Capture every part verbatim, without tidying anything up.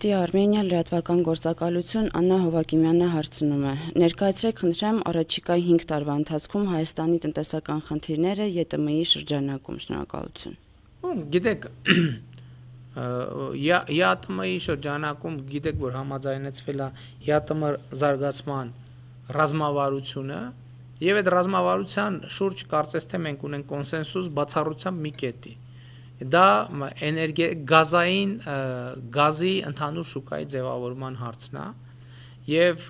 Արտի Արմենիա լրատվական գործակալություն Աննա Հովակիմյանը հարցնում է. ներկայացրեք խնդրեմ առաջիկա հինգ տարվա ընթացքում Հայաստանի տնտեսական խնդիրները ԵՏՄ-ի շրջանակում, շնորհակալություն։ Գիտեք, ԵԱՏՄ-ի շրջանակում գիտեք, որ համաձայնեցվել է ԵԱՏՄ զարգացման ռազմավարությունը եւ այդ ռազմավարության շուրջ կարծես թե մենք ունենք կոնսենսուս բացառությամբ մի կետի։ Դա գազային գազի ընդհանուր շուկայի ձևավորման հարցն է եւ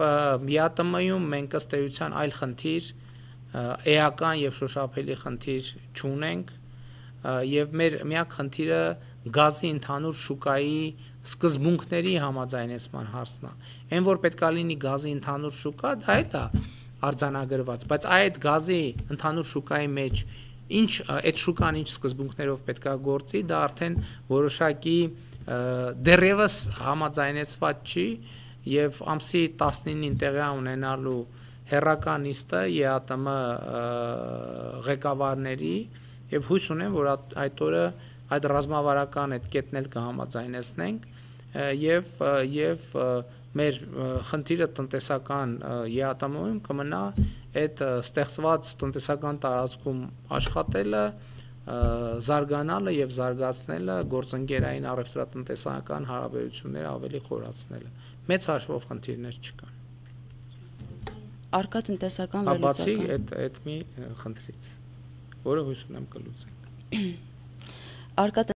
ԵԱՏՄ-ում մենք ըստ էության այլ խնդիր էական եւ շոշափելի խնդիր չունենք եւ մեր միակ խնդիրը գազի ընդհանուր շուկայի սկզբունքների համաձայնեցման հարցն է։ Այն որ պետքա լինի գազի ընդհանուր շուկա, դա էլ է արձանագրված, բայց այդ գազի ընդհանուր շուկայի մեջ ինչ այդ շուկան ինչ սկզբունքներով պետքա գործի, դա արդեն որոշակի դեռևս համաձայնեցված չի եւ ամսի տասնինին տեղի ունենալու հերրական նիստը ԵԱՏՄ ղեկավարների եւ հույս ունեմ, որ այդ օրը այդ ռազմավարական այդ կետն էլ կհամաձայնեցնենք եւ եւ մեր խնդիրը տնտեսական ԵԱՏՄ-ում կմնա այդ ստեղծված տնտեսական տարածքում աշխատելը, զարգանալը եւ զարգացնելը, գործընկերային առևտրատնտեսական հարաբերությունները ավելի խորացնելը։ Մեծ հաշվով խնդիրներ չկան։ Առկա տնտեսական վերլուծական։ Բացի այդ այդ մի խնդրից, որը հույս ունեմ կլուծենք։ Առկա